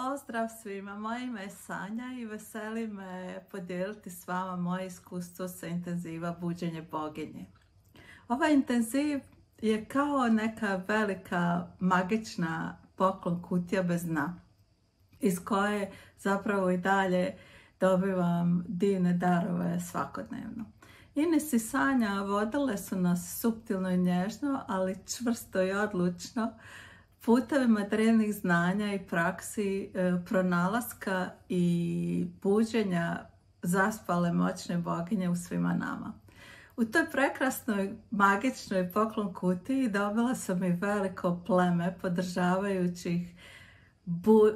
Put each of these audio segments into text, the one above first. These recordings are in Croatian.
Pozdrav svima, moje ime je Sanja i veseli me podijeliti s vama moje iskustvo sa intenziva Buđenje boginje. Ovaj intenziv je kao neka velika magična poklon kutija bez dna, iz koje zapravo i dalje dobivam divne darove svakodnevno. Ines i Sanja vodile su nas suptilno i nježno, ali čvrsto i odlučno putevima drevnih znanja i praksi pronalaska i buđenja zaspale moćne boginje u svima nama. U toj prekrasnoj, magičnoj poklon kutiji dobila sam i veliko pleme podržavajućih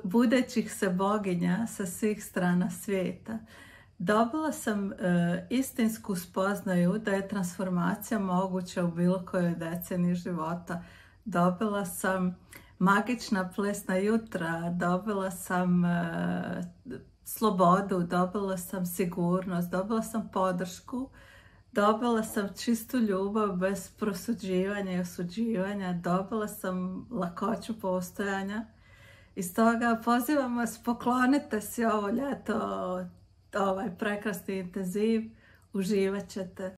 budećih se boginja sa svih strana svijeta. Dobila sam istinsku spoznaju da je transformacija moguća u bilo kojoj deceniji života. Dobila sam magična plesna jutra, dobila sam slobodu, dobila sam sigurnost, dobila sam podršku, dobila sam čistu ljubav bez prosuđivanja i osuđivanja, dobila sam lakoću postojanja. I stoga pozivam vas, poklonite si ovo ljeto, ovaj prekrasni intenziv, uživat ćete.